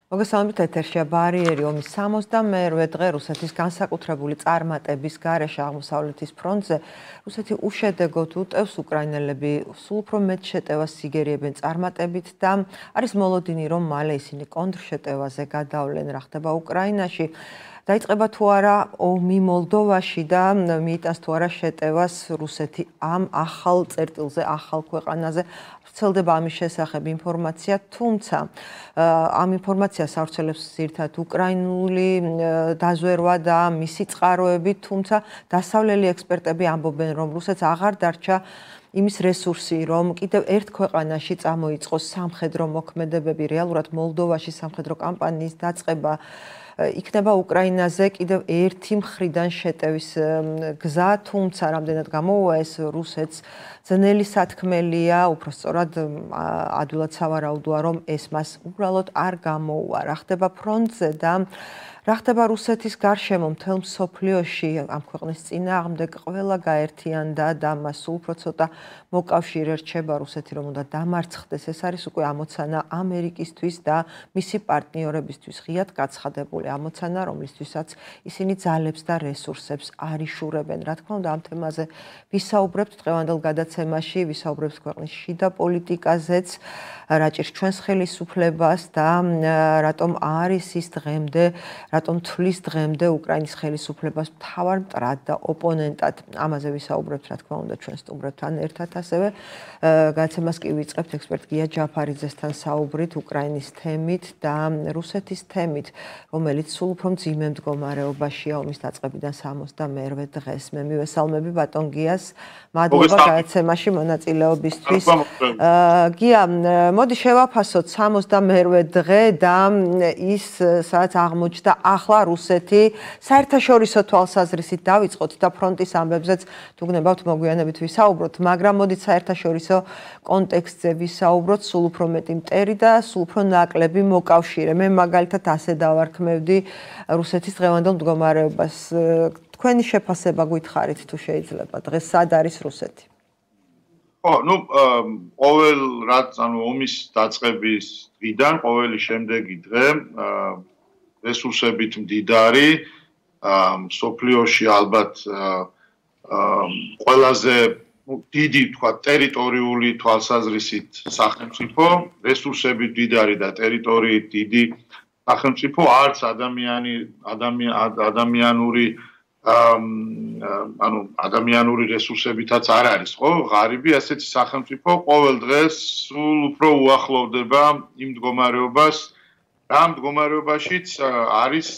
მოგესალმებით ეთერშია ბარიერი ომის 62-მე დღე რუსეთის განსაკუთრებული წარმატების გარეშე აღმოსავლეთის ფრონტზე რუსეთი უშედეგოდ უტევს უკრაინელები სულ უფრო მეტ შეტევას იგერიებენ წარმატებით და არის მოლოდინი რომ მალე ისინი კონტრშეტევაზე გადავლენ რა ხდება უკრაინაში დაიწყება თუ არა ომი მოლდოვაში და მიიტანს თუ არა შეტევას რუსეთი ამ ახალ წერტილზე, ახალ ქვეყანაზე ვრცელდება ამის შესახებ ინფორმაცია, თუმცა ამ ინფორმაციას ავრცელებს ზირთად უკრაინული დაზვერვა და მისი წყაროები, თუმცა დასავლელი ექსპერტები ამბობენ, რომ რუსეთს აღარ დარჩა იმის რესურსი, რომ კიდევ ერთ ქვეყანაში წამოიწყოს სამხედრო მოქმედებები, რეალურად მოლდოვაში სამხედრო კამპანიის დაწყება იქნება უკრაინაზე კიდევ ერთი მხრიდან შეტევის გზა, თუმცა რამდენად გამოუვა ეს რუსეთს ძნელი სათქმელია, უბრალოდ ადვილად სავარაუდოა, რომ ეს მას უბრალოდ არ გამოუვა. რა ხდება ფრონტზე და რა ხდება რუსეთის გარშემო მთელ მსოფლიოში ამ ქვეყნის წინააღმდეგ ყველა გაერთიანდა და მას უფრო ცოტა მოკავშირე რჩება რუსეთი რომ უნდა დამარცხდეს. ეს არის უკვე ამოცანა ამერიკისთვის და მისი პარტნიორებისთვის ღიად გაცხადებული ამოცანა, რომლისთვისაც ისინი ძალებს და რესურსებს არ იშურებენ. რა თქმა უნდა, ამ თემაზე ვისაუბრებთ დღევანდელ გადაცემაში, ვისაუბრებთ ქვეყნის შიდა პოლიტიკაზეც, რა ჭირს ჩვენს ხელისუფლებას და რატომ არის ის დღემდე, რატომ თვლის დღემდე უკრაინის ხელისუფლებას მთავარ მტრად და ოპონენტად. ამაზე ვისაუბრებთ, რა თქმა უნდა, ჩვენ სტუმრებთან ერთად ასევე. გადაცემას კი ვიწყებთ ექსპერტ გია ჯაფარიძესთან საუბრით უკრაინის თემით და რუსეთის თემით, რომელიც სულ უფრო მძიმე მდგომარეობაშია ომის დაწყებიდან 62-მე დღეს. მე მივესალმები ბატონ გიას, მადლობა გადაცემაში მონაწილეობისთვის. გია, მოდი შევაფასოთ 62-მე დღე და ის სადაც აღმოჩნდა ახლა რუსეთი საერთაშორისო თვალსაზრისით დავიწყოთ და ფრონტის ამბებზეც თუ გნებავთ მოგვიანებით ვისაუბროთ, მაგრამ მოდით საერთაშორისო კონტექსტზე ვისაუბროთ, სულ უფრო მეტი მტერი და სულ უფრო ნაკლები მოკავშირე. მე მაგალითად ასე დავარქმევდი რუსეთის დღევანდელ მდგომარეობას. თქვენი შეფასება გითხარით თუ შეიძლება, დღეს სად არის რუსეთი? ყოველ რაც ომის დაწყების დღიდან ყოველი შემდეგი დღე რესურსებით მდიდარი მსოფლიოში ალბათ ყველაზე დიდი თქვა ტერიტორიული თვალსაზრისით სახელმწიფო, რესურსებით მდიდარი და ტერიტორიით დიდი სახელმწიფო არც ადამიანური რესურსებითაც არ არის, ხო? ღარიბი ასეთი სახელმწიფო ყოველ დღეს სულ უფრო უახლოვდება იმ მდგომარეობას, რა მდგომარეობაშიც არის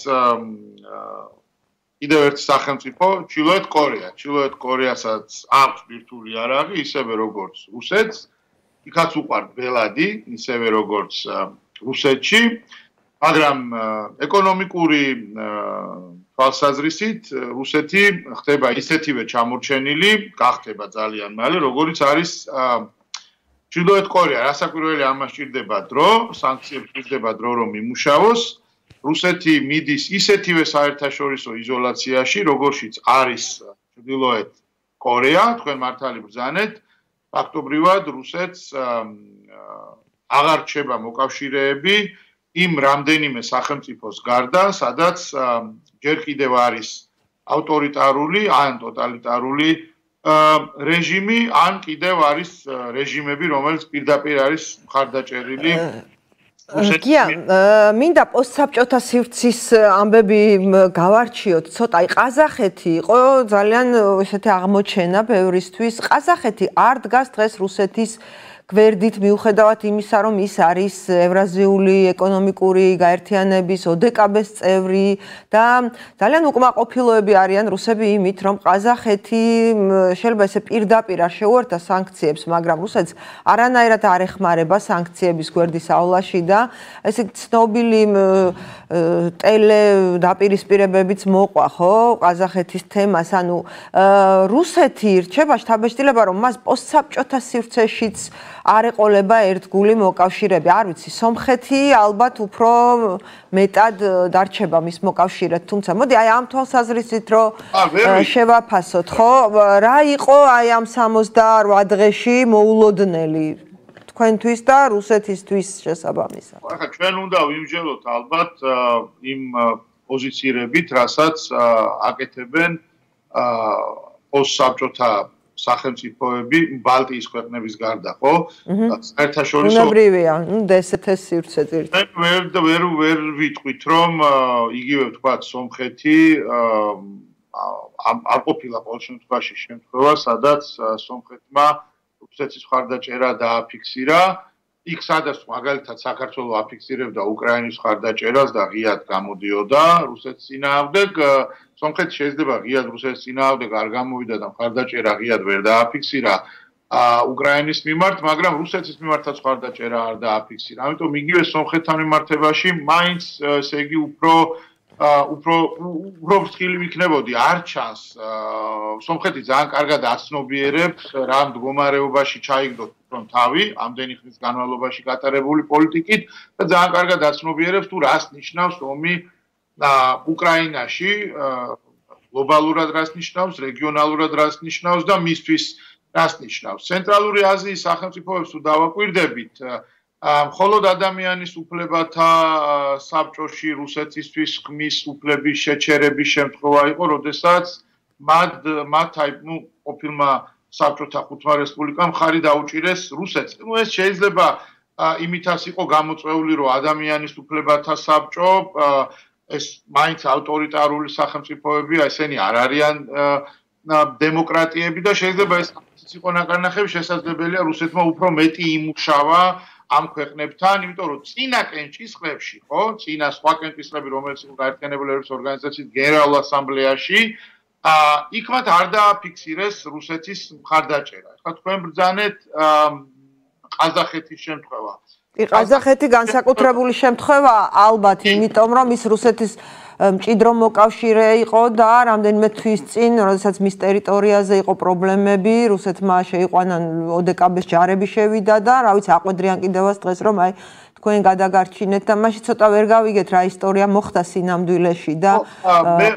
კიდევ ერთი სახელმწიფო, ჩრდილოეთ კორეა. ჩრდილოეთ კორეასაც აქვს ბირთვული იარაღი, ისევე როგორც რუსეთს, იქაც უყვართ ბელადი, ისევე როგორც რუსეთში, მაგრამ ეკონომიკური თვალსაზრისით რუსეთი ხდება ისეთივე ჩამორჩენილი, გახდება ძალიან მალე, როგორც არის ჩრდილოეთ კორეა. რასაკვირველია, ამას ჭირდება დრო, სანქციებს ჭირდება დრო, რომ იმუშაოს. რუსეთი მიდის ისეთივე საერთაშორისო იზოლაციაში, როგორშიც არის ჩრდილოეთ კორეა, თქვენ მართალი ბრძანეთ, ფაქტობრივად რუსეთს აღარ რჩება მოკავშირეები იმ რამდენიმე სახელმწიფოს გარდა, სადაც ჯერ კიდევ არის ავტორიტარული ან ტოტალიტარული რეჟიმი, ან კიდევ არის რეჟიმები, რომელიც პირდაპირ არის მხარდაჭერილი. გია, მინდა პოსტსაბჭოთა სივრცის ამბები გავარჩიოთ. ცოტა ყაზახეთი იყო ძალიან ესეთი აღმოჩენა ბევრისთვის. ყაზახეთი არ დგას დღეს რუსეთის გვერდით მიუხედავად იმისა, რომ ის არის ევრაზიული ეკონომიკური გაერთიანების ოდეკაბეს წევრი და ძალიან უკმაყოფილოები არიან რუსები იმით, რომ ყაზახეთი შეიძლება ესე პირდაპირ არ შეუერთდა სანქციებს, მაგრამ რუსეთს არანაირად არ ეხმარება სანქციების გვერდის აავლაში და ესე ცნობილი ტელე დაპირისპირებებიც მოყვა, ხო, ყაზახეთის თემას, ანუ რუსეთი რჩება შთაბეჭდილება, რომ მას პოსტსაბჭოთა სივრცეშიც არ ეყოლება ერთგული მოკავშირეები. არ ვიცი, სომხეთი ალბათ უფრო მეტად დარჩება მის მოკავშირედ, თუმცა მოდი აი ამ თვალსაზრისით რომ შევაფასოთ, ხო? რა იყო აი ამ 68 დღეში მოულოდნელი? თქვენთვის და რუსეთისთვის შესაბამისად? ახლა ჩვენ უნდა ვიმსჯელოთ ალბათ იმ პოზიციებით, რასაც აკეთებენ პოსტსაბჭოთა სახელმწიფოები ბალტიის ქვეყნების გარდა, ხო? საერთაშორისო უნებრივია, დსთ-ს სივრცე ძირითადად. ვერ ვიტყვით, რომ იგივე ვთქვათ, სომხეთი არ ყოფილა ყოველ შემთხვევაში შემთხვევა, სადაც სომხეთმა რუსეთის მხარდაჭერა დააფიქსირა. იქ სადაც მაგალითად საქართველოს აფიქსირებდა უკრაინის მხარდაჭერას და ღიად გამოდიოდა რუსეთის წინააღმდეგ, სომხეთი შეიძლება ღიად რუსეთის წინააღმდეგ არ გამოვიდა და მხარდაჭერა ღიად ვერ დააფიქსირა უკრაინის მიმართ, მაგრამ რუსეთის მიმართაც მხარდაჭერა არ დააფიქსირა. ამიტომ იგივე სომხეთთან მიმართებაში მაინც ესე იგი უფრო ფრთხილი ვიქნებოდი, არ ჩანს სომხეთი ძალიან კარგად აცნობიერებს რა მდგომარეობაში ჩაიგდოთ თავი ამდენი ხნის განმავლობაში გატარებული პოლიტიკით და ძალიან კარგად აცნობიერებს თუ რას ნიშნავს ომი უკრაინაში, გლობალურად რას ნიშნავს, რეგიონალურად რას ნიშნავს და მისთვის რას ნიშნავს. ცენტრალური აზიის სახელმწიფოებს თუ დავაკვირდებით, მხოლოდ ადამიანის უფლებათა საბჭოში რუსეთისთვის ხმის უფლების შეჩერების შემთხვევა იყო, როდესაც მათ ყოფილმა საბჭოთა ხუთმა რესპუბლიკამ ხარი დაუჭირეს რუსეთს. ეს შეიძლება იმითაც იყო გამოწვეული, რომ ადამიანის უფლებათა საბჭო ეს მაინც ავტორიტარული სახელმწიფოებია, ესენი არ არიან დემოკრატიები და შეიძლება ეს იყო ნაკარნახები შესაძლებელია რუსეთმა უფრო მეტი იმუშავა ამ ქვეყნებთან, იმიტომ რომ წინა კენჭისყრებში, ხო, წინა სხვა კენჭისყრები, რომელიც იყო გაერთიანებული ერების ორგანიზაციის გენერალურ ასამბლეაში, იქ მათ არ დააფიქსირეს რუსეთის მხარდაჭერა. ახლა თქვენ ბრძანეთ ყაზახეთის შემთხვევა. ყაზახეთი განსაკუთრებული შემთხვევა ალბათ, იმიტომ რომ ის რუსეთის მჭიდრო მოკავშირე იყო და რამდენიმე თვის წინ, როდესაც მის ტერიტორიაზე იყო პრობლემები, რუსეთმა შეიყვანა ოდეკაბეს ჯარები შევიდა და რა ვიცი, აყვედრიან კიდევაც დღეს რომ აი თქვენ გადაგარჩინეთ და მაშინ ცოტა ვერ გავიგეთ რა ისტორია მოხდა სინამდვილეში და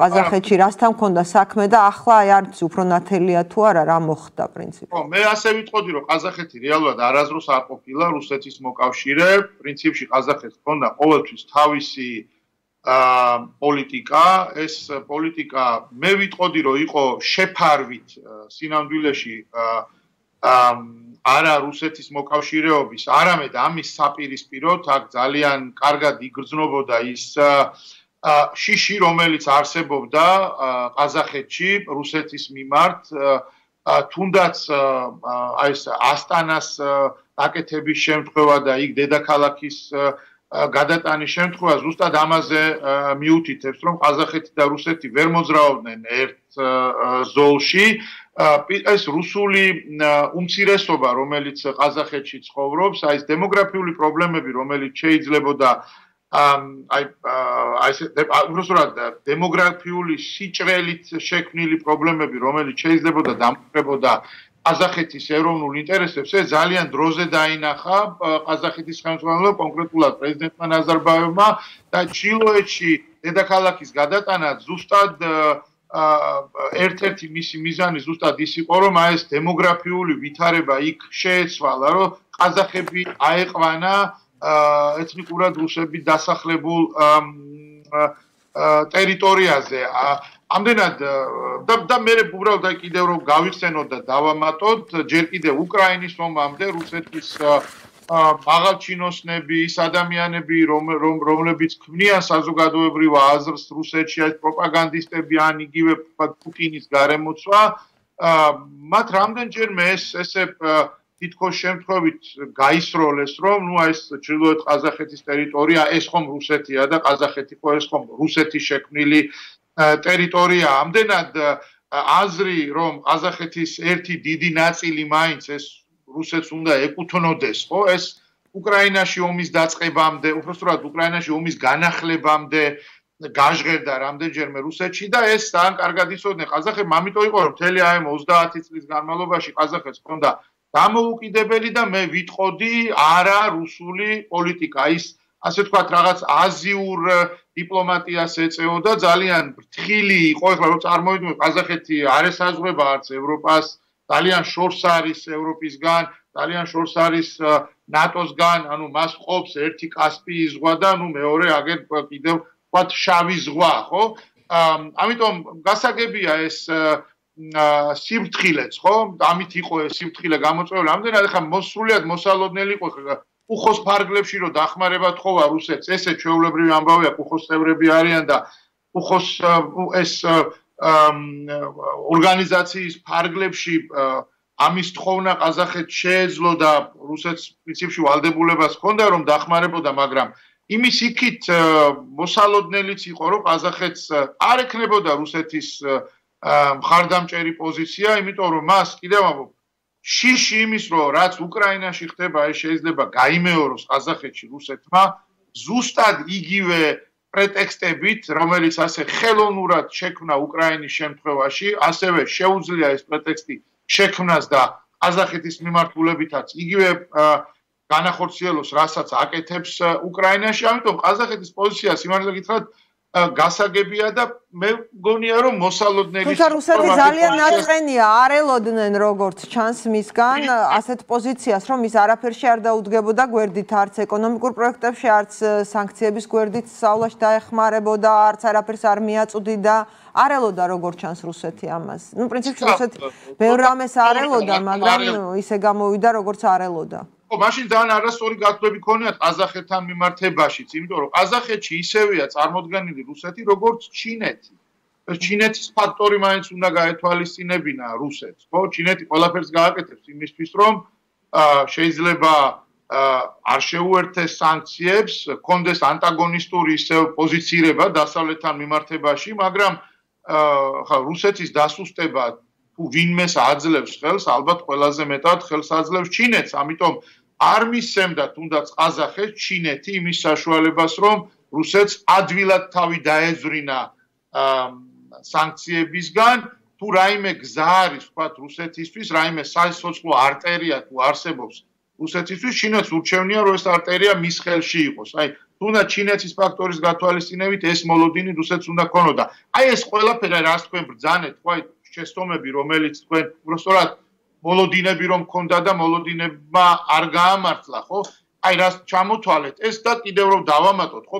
ყაზახეთში რასთან მქონდა საქმე და ახლა აი არც უფრო ნათელია თუ არა რა მოხდა პრინციპში. ხო, მე ასე ვიტყოდი რომ ყაზახეთი რეალურად არასდროს არ ყოფილა რუსეთის მოკავშირე, პრინციპში ყაზახეთს ჰქონდა ყოველთვის თავისი პოლიტიკა, ეს პოლიტიკა მე ვიტყოდი რომ იყო შეფარვით სინამდვილეში არა რუსეთის მოკავშირეობის, არამედ ამის საპირისპიროდ აქ ძალიან კარგად იგრძნობოდა ის შიში, რომელიც არსებობდა ყაზახეთში რუსეთის მიმართ, თუნდაც აი ეს ასტანას აკეთების შემთხვევა და იქ დედაქალაქის გადატანის შემთხვევა ზუსტად ამაზე მიუთითებს, რომ ყაზახეთი და რუსეთი ვერ მოძრაობდნენ ერთ ზოლში. ეს რუსული უმცირესობა, რომელიც ყაზახეთში ცხოვრობს, აი ეს დემოგრაფიული პრობლემები, რომელიც შეიძლებოდა უბრალოდ დემოგრაფიული სიჭრელით შექმნილი პრობლემები, რომელიც შეიძლებოდა დამკვირვებოდა ყაზახეთის ეროვნულ ინტერესებს, ეს ძალიან დროზე დაინახა ყაზახეთის ხელმძღვანელობამ, კონკრეტულად პრეზიდენტმა ნაზარბაევმა და ჩილოეთში დედაქალაქის გადატანა ზუსტად ერთ-ერთი მისი მიზანი ზუსტად ის იყო, რომ აი ეს დემოგრაფიული ვითარება იქ შეეცვალა, რომ ყაზახები აეყვანა ეთნიკურად რუსები დასახლებულ ტერიტორიაზე. ამდენად და მე უბრალოდ აი კიდევ რომ გავიხსენოთ და დავამატოთ, ჯერ კიდევ უკრაინის ომამდე რუსეთის მაღალჩინოსნები, ის ადამიანები, რომლებიც ქმნიან საზოგადოებრივ აზრს რუსეთში, ეს პროპაგანდისტები ან იგივე პუტინის გარემოცვა, მათ რამდენჯერმე ესე თითქოს შემთხვევით გაისროლეს, რომ ნუ ეს ჩრდილოეთ ყაზახეთის ტერიტორია, ეს ხომ რუსეთია და ყაზახეთი ხო ეს ხომ რუსეთის შექმნილი ტერიტორია. ამდენად აზრი, რომ ყაზახეთის ერთი დიდი ნაწილი მაინც ეს რუსეთს უნდა ეკუთვნოდეს, ხო? ეს უკრაინაში ომის დაწყებამდე, უბრალოდ უკრაინაში ომის განახლებამდე გაჟღერდა რამდენჯერმე რუსეთში და ეს ძალიან კარგად იცოდნენ ყაზახები, ამიტომ იყო რომ მთელი აი 30 წლის განმავლობაში ყაზახეთს ჰქონდა დამოუკიდებელი და მე ვიტყოდი არა რუსული პოლიტიკა, ის ასე ვთქვათ რაღაც აზიურ დიპლომატიას ეწეოდა, ძალიან ფრთხილი იყო, ეხლა რომ წარმოვიდგინოთ ყაზახეთი არ ესაზღვრება არც ევროპას, ძალიან შორს არის ევროპისგან, ძალიან შორს არის ნატოსგან, ანუ მას ყოფს ერთი კასპიის ზღვა და მეორე აგერ კიდევ ვთქვათ შავი ზღვა, ხო? ამიტომ გასაგებია ეს სიფრთხილეც, ხო? ამით იყო ეს სიფრთხილე გამოწვეული. ამდენად ახლა მოსრულიად მოსალოდნელი იყო უხოს ფარგლებში რომ დახმარება თხოვა რუსეთს. ესე ჩვეულებრივი ამბავია, უხოს წევრები არიან და უხოს ეს ორგანიზაციის ფარგლებში ამის თხოვნა ყაზახეთს შეეძლო და რუსეთს პრინციპში ვალდებულებას ჰქონდა რომ დახმარებოდა, მაგრამ იმის იქით მოსალოდნელიც იყო რომ ყაზახეთს არ ექნებოდა რუსეთის მხარდამჭერი პოზიცია, იმიტომ რომ მას კიდევ ამბობ შიში იმის რომ რაც უკრაინაში ხდება ეს შეიძლება გაიმეოროს ყაზახეთში რუსეთმა ზუსტად იგივე პრეტექსტებით, რომელიც ასე ხელოვნურად შექმნა უკრაინის შემთხვევაში, ასევე შეუძლია ეს პრეტექსტი შექმნას და ყაზახეთის მიმართულებითაც იგივე განახორციელოს, რასაც აკეთებს უკრაინაში. ამიტომ ყაზახეთის პოზიცია სიმართლე გითხრათ გასაგებია და მე მგონია რომ მოსალოდნელი თუმცა რუსეთი ძალიან ნაწყენია, არ ელოდნენ როგორც ჩანს მისგან ასეთ პოზიციას, რომ ის არაფერში არ დაუდგებოდა გვერდით, არც ეკონომიკურ პროექტებში, არც სანქციების გვერდით სწავლაში დაეხმარებოდა, არც არაფერს არ მიაწვდიდა. არ ელოდა როგორც ჩანს რუსეთი ამას. ნუ პრინციპში რუსეთი ბევრ რამეს არ ელოდა, მაგრამ ისე გამოვიდა როგორც არ ელოდა. მაშინ ძალიან არასწორი გათვლები ქონიათ ყაზახეთთან მიმართებაშიც, იმიტომ რომ ყაზახეთში ისევეა წარმოდგენილი რუსეთი როგორც ჩინეთი. ეს ჩინეთის ფაქტორი მაინც უნდა გაეთვალისწინებინა რუსეთს, ხო? ჩინეთი ყველაფერს გააკეთებს იმისთვის, რომ შეიძლება არ შეუერთეს სანქციებს, კონდეს ანტაგონისტური ისევ პოზიცირება დასავლეთთან მიმართებაში, მაგრამ ხა რუსეთის დასუსტება თუ ვინმეს აძლევს ხელს, ალბათ ყველაზე მეტად ხელს აძლევს ჩინეთს, ამიტომ არ მისცემდა თუნდაც ყაზახეთს ჩინეთი იმის საშუალებას, რომ რუსეთს ადვილად თავი დაეძვრინა სანქციებისგან, თუ რაიმე გზა არის, ვთქვათ, რუსეთისთვის, რაიმე სასიცოცხლო არტერია თუ არსებობს რუსეთისთვის, ჩინეთს ურჩევნია, რომ ეს არტერია მის ხელში იყოს. აი, თუნდაც ჩინეთის ფაქტორის გათვალისწინებით ეს მოლოდინი რუსეთს უნდა ქონოდა. აი ეს ყველაფერი რას თქვენ ბრძანეთ, ხო, აი შეცდომები, რომელიც თქვენ უბრალოდ მოლოდინები რომ ქონდა და მოლოდინებმა არ გაამართლა, ხო? აი რას ჩამოთვალეთ, ეს და კიდევ რომ დავამატოთ, ხო,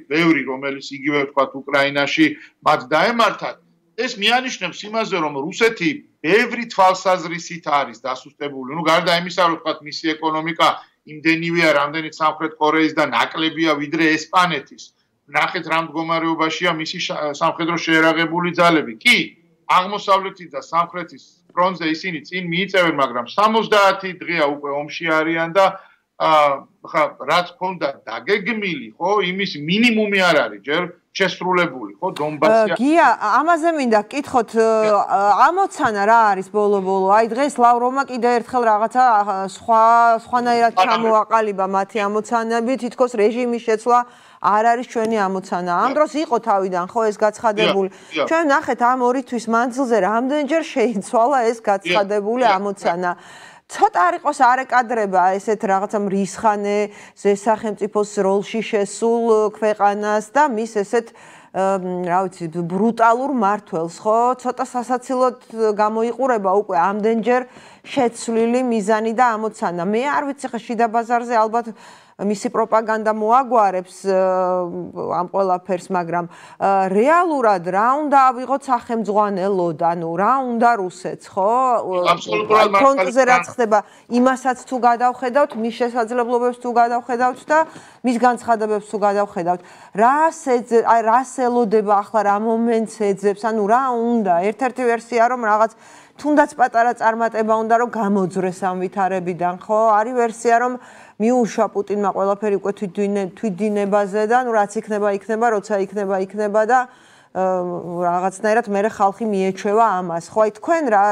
ბევრი რომელიც იგივე ვთქვათ უკრაინაში მათ დაემართათ, ეს მიანიშნებს იმაზე, რომ რუსეთი ბევრი თვალსაზრისით არის დასუსტებული. ნუ გარდა იმისა, რომ ვთქვათ მისი ეკონომიკა იმდენივეა, რამდენიც სამხრეთ კორეის და ნაკლებია ვიდრე ესპანეთის. ნახეთ რა მდგომარეობაშია მისი სამხედრო შეერაღებული ძალები. კი, აღმოსავლეთის და სამხრეთის ფრონტზე ისინი წინ მიიწევენ, მაგრამ 70 დღეა უკვე ომში არიან და ხა რაც ქონდა დაგეგმილი, ხო, იმის მინიმუმი არ არის ჯერ შესრულებული, ხო, დონბასი. გია, ამაზე მინდა გკითხოთ, ამოცანა რა არის ბოლო-ბოლო? აი დღეს ლავროვმა კიდევ ერთხელ რაღაცა სხვანაირად ჩამოაყალიბა მათი ამოცანები, თითქოს რეჟიმის შეცვლა არ არის ჩვენი ამოცანა. ამ დროს იყო თავიდან ხო ეს გაცხადებული. ჩვენ ნახეთ ამ 2 თვის მანძილზე რამდენჯერ შეიცვალა ეს გაცხადებული ამოცანა. ცოტა არ იყოს არეკადრება ესეთ რაღაცა მრისხანე სახელმწიფოს როლში შესულ ქვეყანას და მის ესეთ რა ვიცი ბრუტალურ მართველს, ხო? ცოტა სასაცილოდ გამოიყურება უკვე ამდენჯერ შეცვლილი მიზანი და ამოცანა. მე არ ვიცი ხა შიდა ბაზარზე ალბათ მისი პროპაგანდა მოაგვარებს ამ ყველაფერს, მაგრამ რეალურად რა უნდა ავიღოთ სახელმძღვანელოდ, ანუ რა უნდა რუსეთს, ხო? ფრონტზე რაც ხდება, იმასაც თუ გადავხედავთ, მის შესაძლებლობებს თუ გადავხედავთ და მის განცხადებებს თუ გადავხედავთ, რას ელოდება ახლა რა მომენტს ეძებს, ანუ რა უნდა? ერთ-ერთი ვერსია რომ რაღაც თუნდაც პატარა წარმატება უნდა რომ გამოძრეს ამ ვითარებიდან, ხო? არის ვერსია რომ მიუშვა პუტინმა ყველაფერი უკვე თვითდინებაზე და ნუ რაც იქნება, როცა იქნება და რაღაცნაირად მე ხალხი მიეჩვევა ამას. ხო, აი თქვენ რა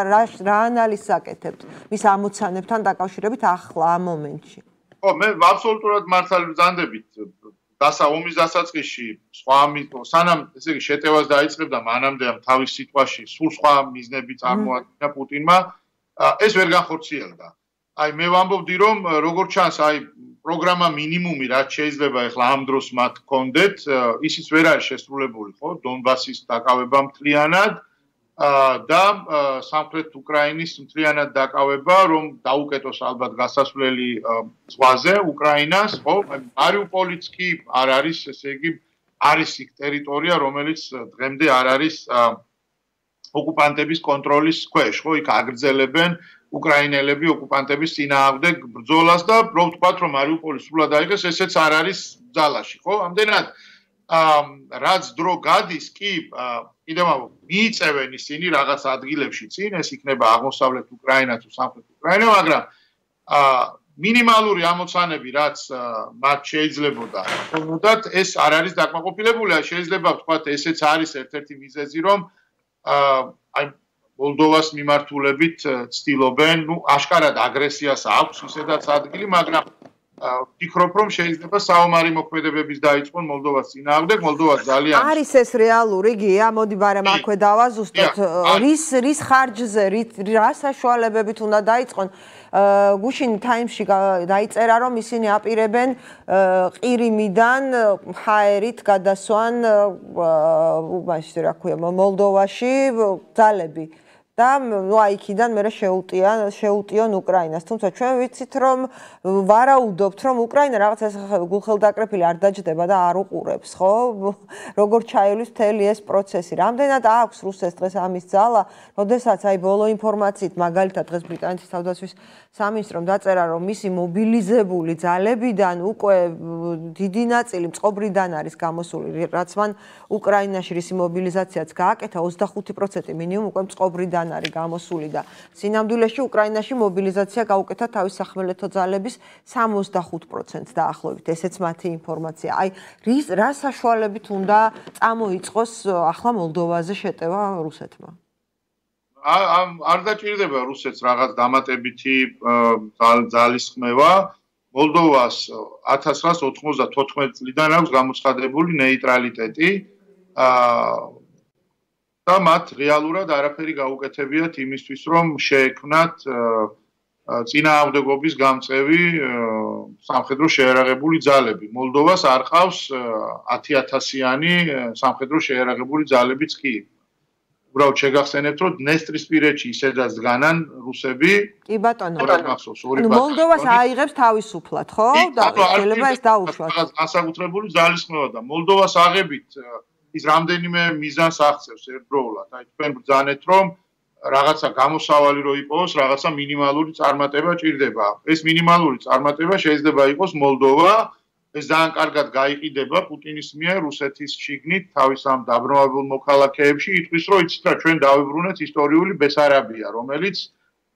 ანალიზს აკეთებთ მის ამოცანებთან დაკავშირებით ახლა ამ მომენტში? ხო, მე აბსოლუტურად მართალი ვზანდებით ომის დასაწყისში სანამ ესე იგი შეტევას დაიწყებდა მანამდე ამ თავის სიტყვაში სულ სხვა მიზნები წარმოადგინა პუტინმა, ეს ვერ განხორციელდა. აი მე ვამბობდი რომ როგორც ჩანს აი პროგრამა მინიმუმი რაც შეიძლება ახლა ამ დროს მათ ჰქონდეთ, ისიც ვერ არის შესრულებული, ხო? დონბასის დაკავება მთლიანად და სამხრეთ უკრაინის მთლიანად დაკავება, რომ დაუკეტოს ალბათ გასასვლელი ზღვაზე უკრაინას, ხო? მარიუპოლიც კი არ არის, ესე იგი, არის იქ ტერიტორია, რომელიც დღემდე არ არის ოკუპანტების კონტროლის ქვეშ, ხო? იქ აგრძელებენ უკრაინელები ოკუპანტების წინააღმდეგ ბრძოლას და რო ვთქვათ, რომ მარიუპოლი სრულად აიღეს, ესეც არ არის ძალაში, ხო? ამდენად რაც დრო გადის, კი კიდევ მიიწევენ ისინი რაღაც ადგილებში წინ, ეს იქნება აღმოსავლეთ უკრაინა თუ სამხრეთ უკრაინა, მაგრამ მინიმალური ამოცანები, რაც მათ შეიძლებოდა, თუმცა ეს არ არის დაკმაყოფილებული, შეიძლება ვთქვათ, ესეც არის ერთ-ერთი მიზეზი, რომ აი მოლდოვას მიმართულებით ცდილობენ, აშკარად აგრესიას აქვს ისედაც ადგილი, მაგრამ ვფიქრობ, რომ შეიძლება საომარი მოქმედებების დაიწყონ მოლდოვას წინააღმდეგ, მოლდოვა ძალიან არის ეს რეალური გია, მოდი ბარემ აქვე დავაზუსტოთ, რის ხარჯზე, რა საშუალებებით უნდა დაიწყონ. გუშინ ტაიმსში დაიწერა, რომ ისინი აპირებენ ყირიმიდან ჰაერით გადასვან მაშინ რა ქვია, მოლდოვაში ძალები. და იქიდან მე შეუტიონ უკრაინას. თუმცა ჩვენ ვიცით, რომ ვარაუდობთ, რომ უკრაინა რაღაც ეს გულხელდაკრეფილი არ დაჯდება და არ უყურებს, ხო? როგორ ჩაივლის მთელი ეს პროცესი. რამდენად აქვს რუსეთს დღეს ამის ძალა, როდესაც აი ბოლო ინფორმაციით, მაგალითად დღეს ბრიტანეთის თავდაცვის სამინისტრომ დაწერა, რომ მისი მობილიზებული ძალებიდან უკვე დიდი ნაწილი მწყობრიდან არის გამოსული, რაც მან უკრაინაში რისი მობილიზაციაც გააკეთა, 25% მინიმუმ უკვე მწყობრიდან არის გამოსული და სინამდვილეში უკრაინაში მობილიზაცია გაუკეთა თავის სახმელეთო ძალების 65% დაახლოებით. ესეც მათი ინფორმაცია. აი, რა საშუალებით უნდა წამოიწყოს ახლა მოლდოვაზე შეტევა რუსეთმა? არ დაჭირდება რუსეთს რაღაც დამატებითი ძალის ხმევა. მოლდოვას 1994 წლიდან აქვს გამოცხადებული ნეიტრალიტეტი. და მათ რეალურად არაფერი გაუკეთებიათ იმისთვის, რომ შეექმნათ წინააღმდეგობის გამწევი სამხედრო შეიარაღებული ძალები. მოლდოვას არ ყავს 10,000-იანი სამხედრო შეიარაღებული ძალებიც კი. უბრალოდ შეგახსენებთ, რომ დნესტრისპირეთში ისედაც დგანან რუსები. კი ბატონო. მოლდოვას აიღებს თავისუფლად, ხო? და შეიძლება ეს დაუშვათ. განსაკუთრებული ძალის ხმევა და მოლდოვას აღებით ის რამდენიმე მიზანს აღწევს ერთდროულად. აი თქვენ ბრძანეთ, რომ რაღაცა გამოსავალი რო იყოს, რაღაცა მინიმალური წარმატება ჭირდება. ეს მინიმალური წარმატება შეიძლება იყოს მოლდოვა. ეს ძალიან კარგად გაიყიდება პუტინის მიერ რუსეთის შიგნით თავის ამ დაბრუნებულ მოქალაქეებში. იტყვის, რომ იცით რა, ჩვენ დავიბრუნეთ ისტორიული ბესარაბია, რომელიც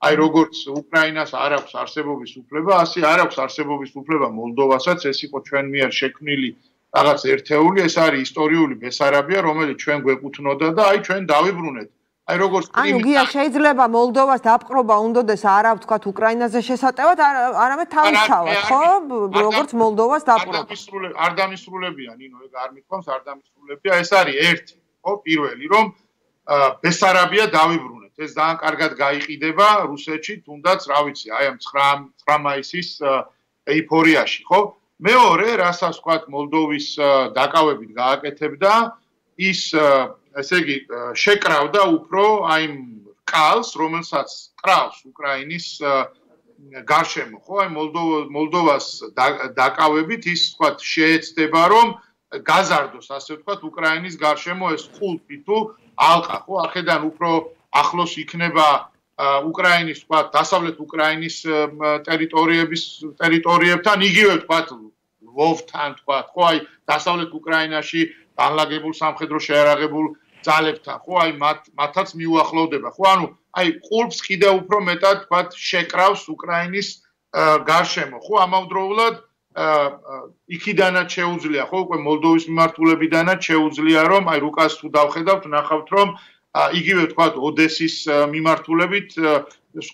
აი როგორც უკრაინას არ აქვს არსებობის უფლება, ასე არ აქვს არსებობის უფლება მოლდოვასაც. ეს იყო ჩვენ მიერ შექმნილი რაღაც ერთეული, ეს არის ისტორიული ბესარაბია, რომელიც ჩვენ გვეკუთვნოდა და აი ჩვენ დავიბრუნეთ. აი როგორც ანუ გია შეიძლება მოლდოვას დაპყრობა უნდოდეს არა ვთქვათ უკრაინაზე შესატევად, არამედ თავისთავად, ხო? როგორც მოლდოვას დაპყრობა. არ დამისრულებია, ნინო, ეგ არ მithქვამს, არ დამისრულებია, ეს არის ერთი, ხო? პირველი, რომ ბესარაბია დავიბრუნეთ. ეს ძალიან კარგად გაიყიდება რუსეთში, თუნდაც, რა ვიცი, აი ამ 9 მაისის ეიფორიაში, ხო? მეორე, რასაც ვთქვათ, მოლდოვის დაკავებით გააკეთებდა, ის ესე იგი შეკრავდა უფრო აი კალს, რომელსაც კრავს უკრაინის გარშემო, ხო? აი მოლდოვას დაკავებით ის ვთქვათ შეეცდება, რომ გაზარდოს, ასე ვთქვათ, უკრაინის გარშემო ეს ხულტი თუ ალყა, ხო? ახედან უფრო ახლოს იქნება უკრაინის, ვთქვათ, დასავლეთ უკრაინის ტერიტორიებთან, იგივე ვთქვათ, ლვოვთან, ვთქვათ, ხო? აი დასავლეთ უკრაინაში განლაგებულ სამხედრო შეიარაღებულ ძალებთან, ხო? აი მათაც მიუახლოვდება, ხო? ანუ აი ყურბს კიდევ უფრო მეტად, ვთქვათ, შეკრავს უკრაინის გარშემო, ხო? ამავდროულად იქიდანაც შეუძლია, ხო? უკვე მოლდოვის მიმართულებიდანაც შეუძლია, რომ აი რუკას თუ დავხედავთ, ნახავთ, რომ იგივე ვთქვათ, ოდესის მიმართულებით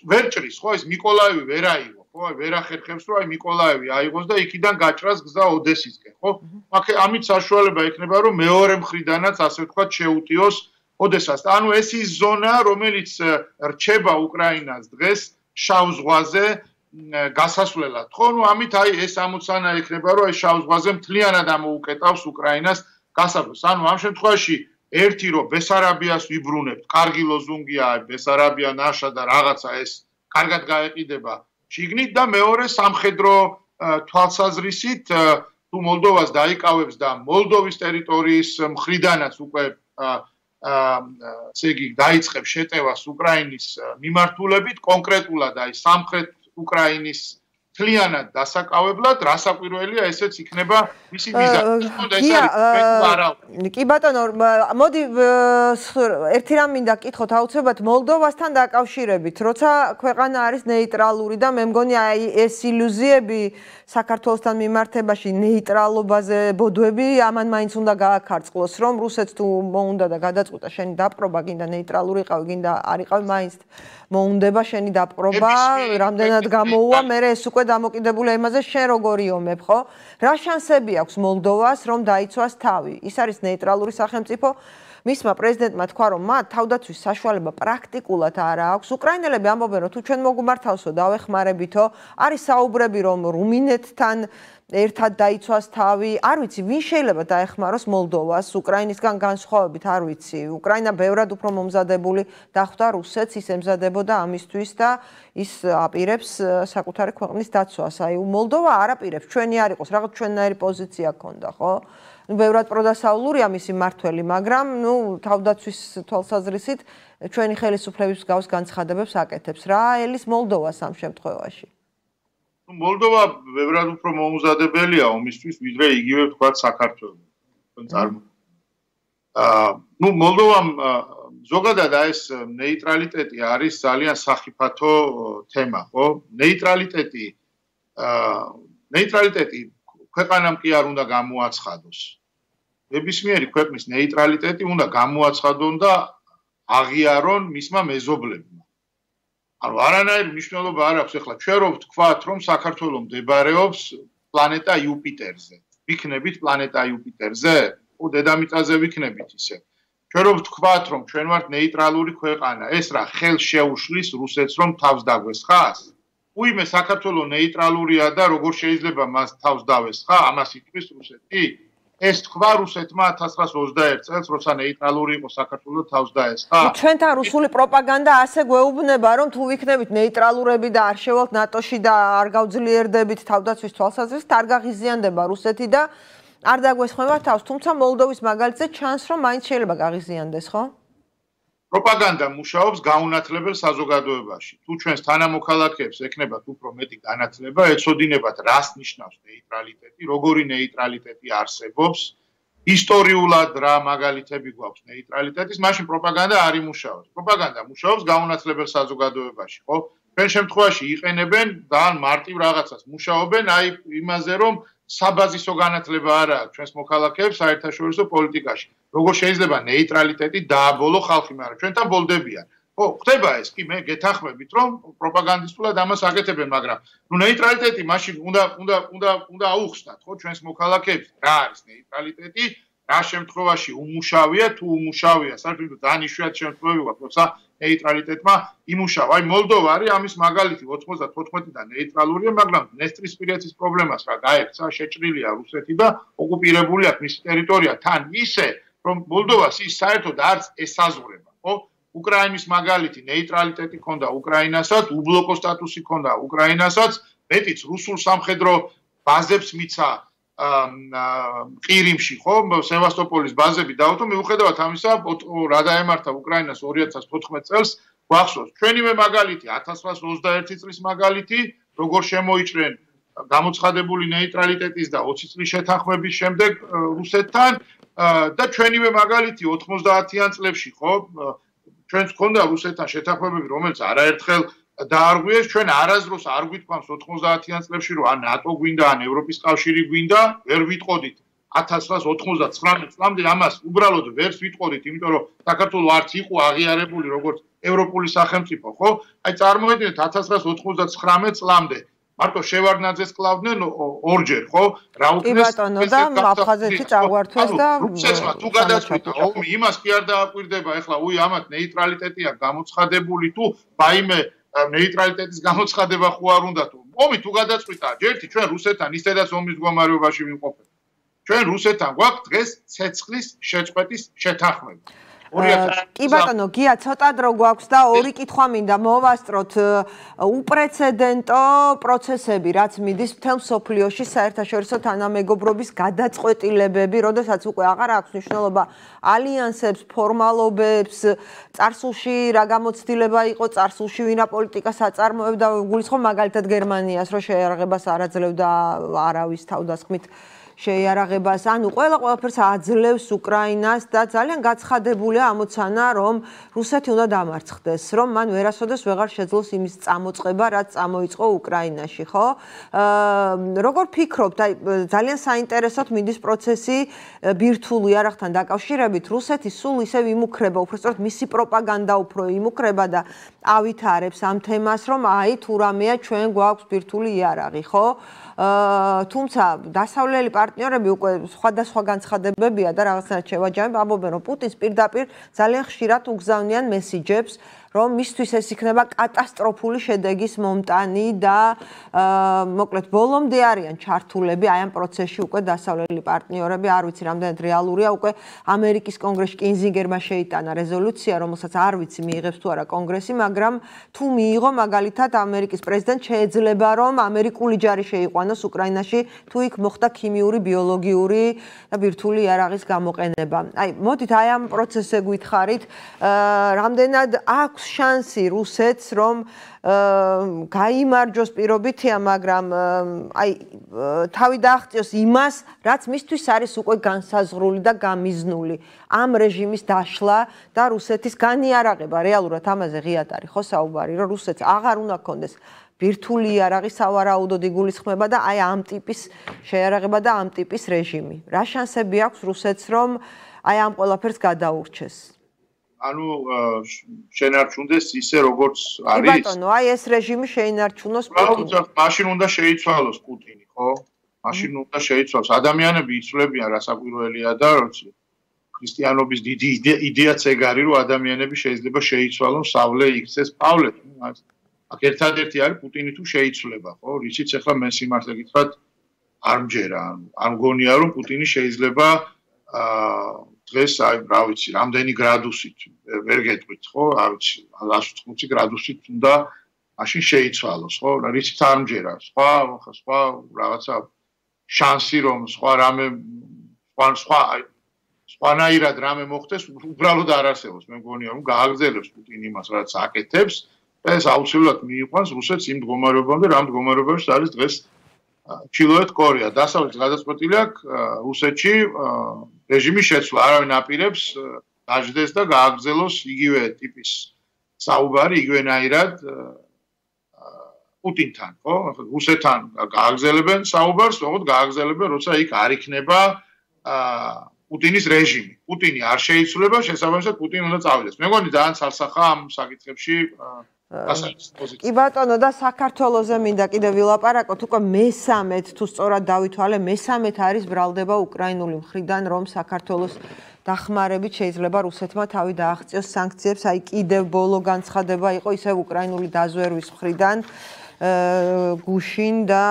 ვერ ჭრის, ხო? ეს მიკოლაევი ვერ აიღო, ხო? აი ვერ ახერხებს, რომ აი მიკოლაევი აიღოს და იქიდან გაჭრას გზა ოდესისკენ, ხო? ამით საშუალება იქნება, რომ მეორე მხრიდანაც, ასე ვთქვათ, შეუტიოს ოდესას. ანუ ეს ის ზონა, რომელიც რჩება უკრაინას დღეს შავ ზღვაზე გასასვლელად, ხო? ნუ ამით აი ეს ამოცანა იქნება, რომ აი შავ ზღვაზე მთლიანად ამოუკეტავს უკრაინას გასასვლელს. ანუ ამ შემთხვევაში ერთი რომ ბესარაბიას ვიბრუნებთ, კარგი ლოზუნგია, ბესარაბია ნაშა და რაღაცა ეს კარგად გაეყიდება შიგნით და მეორე სამხედრო თვალსაზრისით თუ მოლდოვას დაიკავებს და მოლდოვის ტერიტორიის მხრიდანაც უკვე ესე იგი დაიწყებს შეტევას უკრაინის მიმართულებით კონკრეტულად აი სამხრეთ უკრაინის მთლიანად დასაკავებლად რასაკვირველია ესეც იქნება მისი მიზანი. კი ბატონო, მოდი ერთი რამ მინდა გკითხოთ აუცილებლად მოლდოვასთან დაკავშირებით, როცა ქვეყანა არის ნეიტრალური და მე მგონი აი ეს ილუზიები საქართველოსთან მიმართებაში ნეიტრალობაზე ბოდვები ამან მაინც უნდა გააქარწყლოს, რომ რუსეთს თუ მოუნდა და გადაწყვიტა შენი დაპყრობა, გინდა ნეიტრალური ყავი, გინდა არ იყავი, მაინც მოუნდება შენი დაპყრობა, რამდენად გამოუვა, მე ეს უკვე დამოკიდებულია იმაზე, შენ როგორ იომებ, ხო? რა შანსები აქვს მოლდოვას, რომ დაიცვას თავი? ის არის ნეიტრალური სახელმწიფო. მისმა პრეზიდენტმა თქვა, რომ მათ თავდაცვის საშუალება პრაქტიკულად არ აქვს. უკრაინელები ამბობენ, რომ თუ ჩვენ მოგუმართავსო, დავეხმარებითო. არის საუბრები, რომ რუმინეთთან ერთად დაიცვას თავი. არ ვიცი, ვინ შეიძლება დაეხმაროს მოლდოვას უკრაინისგან განსხვავებით, არ ვიცი. უკრაინა ბევრად უფრო მომზადებული დახვდა რუსეთს, ის ემზადებოდა ამისთვის და ის აპირებს საკუთარი ქვეყნის დაცვას. აი, მოლდოვა არ აპირებს, ჩვენი არ იყოს, რაღაც ჩვენნაირი პოზიცია ქონდა, ხო? ბევრად პროდასავლურია მისი მართველი, მაგრამ თავდაცვის თვალსაზრისით ჩვენი ხელისუფლების გავს განცხადებებს აკეთებს. რა ელის მოლდოვას ამ შემთხვევაში? მოლდოვა ბევრად უფრო მომზადებელია ომისთვის, ვიდრე იგივე თქვა საქართველოს. მოლდოვამ ზოგადად ეს ნეიტრალიტეტი არის ძალიან სახიფათო თემა, ხო? ნეიტრალიტეტი ქვეყანამ კი არ უნდა გამოაცხადოს. ნებისმიერი ქვეყნის ნეიტრალიტეტი უნდა გამოაცხადონ და აღიარონ მისმა მეზობლებმა. ანუ არანაირი მნიშვნელობა არ აქვს ახლა ჩვენ რომ ვთქვათ რომ საქართველოს მდებარეობს პლანეტა იუპიტერზე. ვიქნებით პლანეტა იუპიტერზე? დედამიწაზე ვიქნებით ისე. ჩვენ რომ ვთქვათ რომ ჩვენ ვართ ნეიტრალური ქვეყანა, ეს რა ხელს შეუშლის რუსეთს რომ თავს დაგვესხას? უიმე საქართველოს ნეიტრალურია და როგორ შეიძლება მას თავს დავესხა? ამას იტყვის რუსეთი? ეს თქვა რუსეთმა 1921 წელს, როცა ნეიტრალური იყო საქართველოს თავს დაესხა. ჩვენთან რუსული პროპაგანდა ასე გვეუბნება, რომ თუ ვიქნებით ნეიტრალურები და არ შევალთ ნატოში და არ გავძლიერდებით თავდაცვის თვალსაზრისით, არ გაღიზიანდება რუსეთი და არ დაგვესხმება თავს. თუმცა მოლდოვის მაგალითზე ჩანს, რომ მაინც შეიძლება გაღიზიანდეს, ხო? პროპაგანდა მუშაობს გაუნათლებელ საზოგადოებაში. თუ ჩვენს თანამოქალაქეებს ექნებათ უფრო მეტი განათლება, ეცოდინებათ რას ნიშნავს ნეიტრალიტეტი, როგორი ნეიტრალიტეტი არსებობს, ისტორიულად რა მაგალითები გვაქვს ნეიტრალიტეტის, მაშინ პროპაგანდა არ იმუშაოს. პროპაგანდა მუშაობს გაუნათლებელ საზოგადოებაში, ხო? ჩვენ შემთხვევაში იყენებენ ძალიან მარტივ რაღაცას, მუშაობენ აი იმაზე, რომ საბაზისო განათლება არ აქვს ჩვენს მოქალაქეებს საერთაშორისო პოლიტიკაში. როგორ შეიძლება ნეიტრალიტეტი დააბოლო ხალხი, მაგრამ ჩვენთან ბოლდებიან. ხო, ხდება ეს, კი მე გეთანხმებით, რომ პროპაგანდისტულად ამას აკეთებენ, მაგრამ ნეიტრალიტეტი მაშინ უნდა აუხსნათ, ხო, ჩვენს მოქალაქეებს, რა არის ნეიტრალიტეტი, რა შემთხვევაში უმუშავია, თუ უმუშავია, საერთოდ ძალიან იშვიათი შემთხვევები გვაქვს, როცა ნეიტრალიტეტმა იმუშავა. აი მოლდოვა არის ამის მაგალითი 94-დან ნეიტრალურია, მაგრამ დნესტრისპირეთის პრობლემას რა გაექცა, შეჭრილია რუსეთი და ოკუპირებული აქვს მისი ტერიტორია თან ისე, რომ მოლდოვას ის საერთოდ არც ესაზღვრება, ხო? უკრაინის მაგალითი ნეიტრალიტეტი ქონდა უკრაინასაც, უბლოკო სტატუსი ქონდა უკრაინასაც, მეტიც რუსულ სამხედრო ბაზებს მიცა ყირიმში, ხო, სევასტოპოლის ბაზები დაუთო, მიუხედავად ამისა, რა დაემართა უკრაინას 2014 წელს, გვახსოვს. ჩვენივე მაგალითი 1921 წლის მაგალითი, როგორ შემოიჭრენ გამოცხადებული ნეიტრალიტეტის და 20 წლის შეთანხმების შემდეგ რუსეთთან და ჩვენივე მაგალითი 90-იან წლებში, ხო, ჩვენს ქონდა რუსეთთან შეთანხმებები, რომელიც არაერთხელ დაარღვიეს, ჩვენ არასდროს არ გვითქვამს 90-იან წლებში, რომ ან ნატო გვინდა, ან ევროპის კავშირი გვინდა, ვერ ვიტყოდით 1999 წლამდე ამას უბრალოდ ვერ ვიტყოდით, იმიტომ რომ საქართველოს არც იყო აღიარებული როგორც ევროპული სახელმწიფო, ხო? აი წარმოედგინეთ 1999 წლამდე მარტო შევარდნაძეს კლავდნენ ორჯერ, ხო? კი ბატონო და აფხაზეთი წაგვართვეს და რუსეთმა თუ გადაწყვიტა ომი, იმას კი არ დააკვირდება, ეხლა ამათ ნეიტრალიტეტია გამოცხადებული თუ ბაიმე ნეიტრალიტეტის გამოცხადება ხო არ უნდა თუ ომი თუ გადაწყვიტა ჯერთი ჩვენ რუსეთთან ისედაც ომის მდგომარეობაში ვიმყოფებთ. ჩვენ რუსეთთან გვაქვს დღეს ცეცხლის შეწყვეტის შეთანხმება. კი ბატონო, გია ცოტა დრო გვაქვს და ორი კითხვა მინდა მოვასწროთ. უპრეცედენტო პროცესები, რაც მიდის მთელ მსოფლიოში საერთაშორისო თანამეგობრობის გადაწყვეტილებები, როდესაც უკვე აღარ აქვს მნიშვნელობა ალიანსებს, ფორმალობებს, წარსულში რა გამოცდილება იყო, წარსულში ვინა პოლიტიკას აწარმოებდა, გულისხმობ მაგალითად გერმანიას, რომ შეიარაღებას არ აძლევდა არავის თავდასხმით შეიარაღებას, ანუ ყველაფერს აძლევს უკრაინას და ძალიან გაცხადებულია ამოცანა, რომ რუსეთი უნდა დამარცხდეს, რომ მან ვერასოდეს ვეღარ შეძლოს იმის წამოწყება, რაც წამოიწყო უკრაინაში, ხო? როგორ ფიქრობთ, აი ძალიან საინტერესოდ მიდის პროცესი ბირთვულ იარაღთან დაკავშირებით, რუსეთი სულ ისევ იმუქრება, უბრალოდ მისი პროპაგანდა უფრო იმუქრება და ავითარებს ამ თემას, რომ აი თუ რამეა ჩვენ გვაქვს ბირთვული იარაღი, ხო? თუმცა დასავლელი პარტნიორები უკვე სხვადასხვა განცხადებებია და რაღაცნაირად შევაჯამებ, ამბობენ, რომ პუტინს პირდაპირ ძალიან ხშირად უგზავნიან მესიჯებს, რომ მისთვის ეს იქნება კატასტროფული შედეგის მომტანი და მოკლედ ბოლომდე არიან ჩართულები აი ამ პროცესში უკვე დასავლელი პარტნიორები, არ ვიცი რამდენად რეალურია, უკვე ამერიკის კონგრესში კინზინგერმა შეიტანა რეზოლუცია, რომელსაც არ ვიცი მიიღებს თუ არა კონგრესი, მაგრამ თუ მიიღო მაგალითად ამერიკის პრეზიდენტ შეიძლება რომ ამერიკული ჯარი შეიყვანოს უკრაინაში, თუ იქ მოხდა ქიმიური, ბიოლოგიური და ბირთვული იარაღის გამოყენება. აი მოდით აი ამ პროცესზე გითხარით, რამდენად აქვს შანსი რუსეთს რომ გაიმარჯოს პირობითია, მაგრამ აი თავი დააღწიოს იმას, რაც მისთვის არის უკვე განსაზღვრული და გამიზნული. ამ რეჟიმის დაშლა და რუსეთის განიარაღება, რეალურად ამაზე ღიად არის ხო საუბარი, რომ რუსეთს აღარ უნდა ქონდეს ბირთვული იარაღი სავარაუდოდ იგულისხმება და აი ამ ტიპის შეიარაღება და ამ ტიპის რეჟიმი. რა შანსები აქვს რუსეთს რომ აი ამ ყველაფერს გადაურჩეს? ანუ შენარჩუნდეს ისე როგორც არის. კი ბატონო, აი ეს რეჟიმი შეინარჩუნოს პუტინი. მაშინ უნდა შეიცვალოს პუტინი, ხო? მაშინ უნდა შეიცვალოს. ადამიანები იცვლებიან რა საკვირველია და როცა ქრისტიანობის დიდი იდეაც ეგ არის, რომ ადამიანები შეიძლება შეიცვალონ, სავლე იქცეს პავლე. აქ ერთადერთი არის პუტინი თუ შეიცვლება, ხო? რისიც ახლა მე სიმართლე გითხრათ არ მჯერა. არ მგონია რომ პუტინი შეიძლება დღეს აი რა ვიცი რამდენი გრადუსით ვერ გეტყვით ხო რა ვიცი 180 გრადუსით უნდა მაშინ შეიცვალოს ხო რიცით არ მჯერა სხვა რაღაცა შანსი რომ სხვა რამე სხვანაირად რამე მოხდეს უბრალოდ არ არსებობს მე მგონია რომ გააგრძელებს პუტინი იმას რაც აკეთებს და ეს აუცილებლად მიიყვანს რუსეთს იმ მდგომარეობამდე რა მდგომარეობაში არის დღეს ჩრდილოეთ კორეა დასავლეთს გადაწყვეტილი აქვს რუსეთში რეჟიმის შეცვლა არავინ აპირებს დაждდეს და გააგრძელოს იგივე ტიპის საუბარი იგივენაირად პუტინთან ხო რუსეთთან გააგრძელებენ საუბარს თუმცა გააგრძელებენ როცა იქ არ იქნება პუტინის რეჟიმი პუტინი არ შეიცვლება შესაბამისად პუტინი უნდა წავიდეს მე მგონი ძალიან ცალსახა ამ საკითხებში კი ბატონო და საქართველოზე მინდა კიდევ ვილაპარაკოთ უკვე მესამედ თუ სწორად დავითვალე მესამედ არის ბრალდება უკრაინული მხრიდან რომ საქართველოს დახმარებით შეიძლება რუსეთმა თავი დააღწიოს სანქციებს აი კიდევ ბოლო განცხადება იყო ისევ უკრაინული დაზვერვის მხრიდან გუშინ და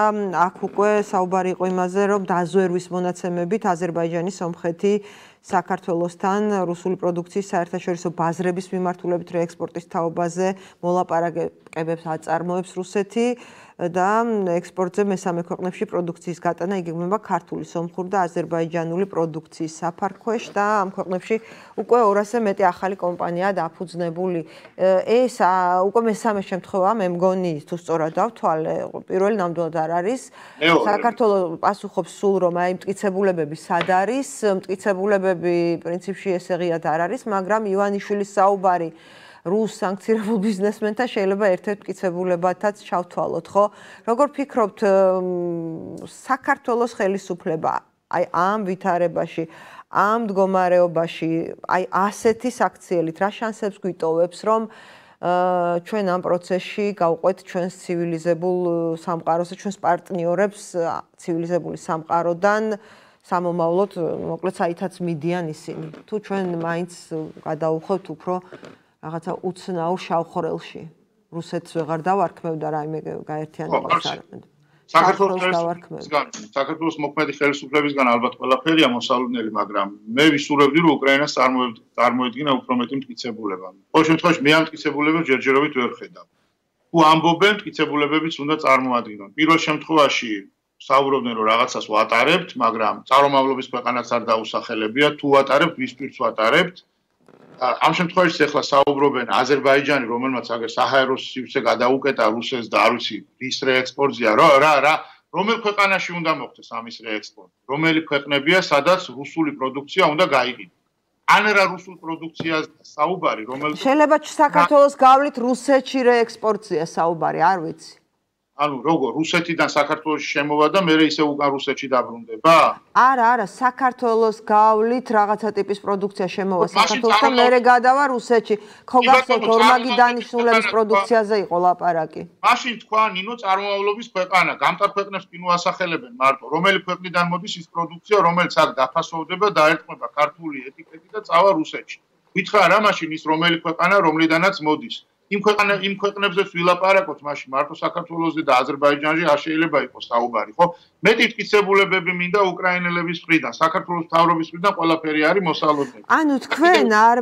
აქ უკვე საუბარი იყო იმაზე რომ დაზვერვის მონაცემებით აზერბაიჯანი სომხეთი საქართველოსთან რუსული პროდუქციის საერთაშორისო ბაზრების მიმართულებით რეექსპორტის თაობაზე მოლაპარაკებებს აწარმოებს რუსეთი და ექსპორტზე მესამე ქვეყნებში პროდუქციის გატანა იგეგმება ქართული, სომხური და აზერბაიჯანული პროდუქციის საფარქვეშ და ამ ქვეყნებში უკვე 200-ზე მეტი ახალი კომპანიაა დაფუძნებული. ეს უკვე მესამე შემთხვევაა, მე მგონი, თუ სწორად დავთვალე, პირველი ნამდვილად არ არის. საქართველოს პასუხობს სულ რომ აი მტკიცებულებები სად არის, მტკიცებულებები პრინციპში ესე ღიად არ არის, მაგრამ ივანიშვილის საუბარი რუს სანქცირებულ ბიზნესმენთან შეიძლება ერთ-ერთ მტკიცებულებათაც ჩავთვალოთ, ხო? როგორ ფიქრობთ, საქართველოს ხელისუფლება აი ამ ვითარებაში, ამ მდგომარეობაში, აი ასეთი საქციელით რა შანსებს გვიტოვებს, რომ ჩვენ ამ პროცესში გავყვეთ ჩვენს ცივილიზებულ სამყაროს და ჩვენს პარტნიორებს ცივილიზებული სამყაროდან სამომავლოდ, მოკლედ საითაც მიდიან ისინი. თუ ჩვენ მაინც გადავუხოთ უფრო რაღაცა უცნაურ შავ ხორელში. რუსეთს ვეღარ დავარქმევ და რაიმე გაერთიანებას არ. საქართველოს მოქმედი ხელისუფლებისგან ალბათ ყველაფერია მოსალოდნელი, მაგრამ მე ვისურვებდი, რომ უკრაინას წარმოედგინა უფრო მეტი მტკიცებულება. ყოველ შემთხვევაში მე ამ მტკიცებულებებს ჯერჯერობით ვერ ხედავ. თუ ამბობენ, მტკიცებულებებიც უნდა წარმოადგინონ. პირველ შემთხვევაში საუბრობდნენ, რომ რაღაცას ვატარებთ, მაგრამ წარმომავლობის ქვეყანაც არ დაუსახელებია, თუ ვატარებთ, ვის პირს ვატარებთ. ამ შემთხვევაში ახლა საუბრობენ აზერბაიჯანი, რომელმაც აგერ საჰაერო სივრცე გადაუკეტა რუსეთს და არ ვიცი, რის რეექსპორტია, რა რომელ ქვეყანაში უნდა მოხდეს ამის რეექსპორტი? რომელი ქვეყნებია, სადაც რუსული პროდუქცია უნდა გაიყიდოს? ან რა რუსულ პროდუქციაზე საუბარი, რომელიც შეიძლება საქართველოს გავლით რუსეთში რეექსპორტია საუბარი, არ ვიცი. ანუ როგორ რუსეთიდან საქართველოში შემოვა და მე ისე უკან რუსეთში დაბრუნდება? არა, საქართველოს გავლით რაღაცა ტიპის პროდუქცია შემოვა საქართველოსთან, მე გადავა რუსეთში. ხო გახსოვთ ორმაგი დანიშნულების პროდუქციაზე იყო ლაპარაკი. მაშინ თქვა ნინო წარმომავლობის ქვეყანა, გამტარ ქვეყნებს კი ნუასახელებენ მარტო, რომელი ქვეყნიდან მოდის ის პროდუქცია, რომელიც აქ დაფასოვდება, დაერტყმება ქართული ეტიკეტი და წავა რუსეთში. ვითხრა რა მაშინ ის რომელი ქვეყანა, რომლიდანაც მოდის. იმ ქვეყნებზეც ვილაპარაკოთ, მაშინ მარტო საქართველოსზე და აზერბაიჯანში არ შეიძლება იყოს საუბარი, ხო? მეტი მტკიცებულებები მინდა უკრაინელების მხრიდან, საქართველოს მთავრობის მხრიდან ყველაფერი არის მოსალოდნელი. ანუ თქვენ არ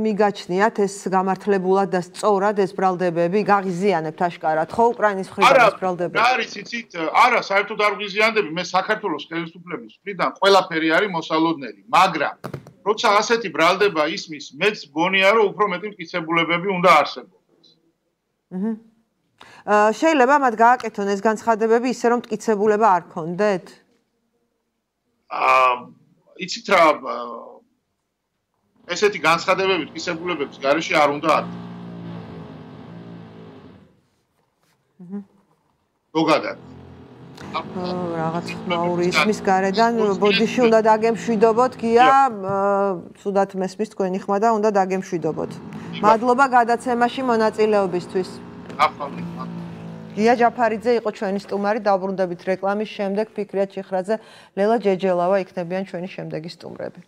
მიგაჩნიათ ეს გამართლებულად და სწორად ეს ბრალდებები, გაღიზიანებთ აშკარად, ხო, უკრაინის მხრიდან ეს ბრალდებები? არა, არის იცით, არა, საერთოდ არ ვღიზიანდები, მე საქართველოს ხელისუფლების მხრიდან ყველაფერი არის მოსალოდნელი, მაგრამ როცა ასეთი ბრალდება ისმის, მეც გონია, რომ უფრო მეტი მტკიცებულებები უნდა არსებობდეს. შეიძლება მათ გააკეთონ ეს განცხადებები ისე, რომ მტკიცებულება არ ქონდეთ? იცით რა, ესეთი განცხადებები მტკიცებულებების გარეშე არ უნდა არქონ. ზოგადად. რაღაც ხმაური ისმის გარედან ბოდიში უნდა დაგემშვიდობოთ, გია, ცუდად მესმის თქვენი ხმა და უნდა დაგემშვიდობოთ. მადლობა გადაცემაში მონაწილეობისთვის. გია ჯაფარიძე იყო ჩვენი სტუმარი, დავბრუნდებით რეკლამის შემდეგ, ფიქრია ჩიხრაძე, ლელა ჯეჯელავა იქნებიან ჩვენი შემდეგი სტუმრები.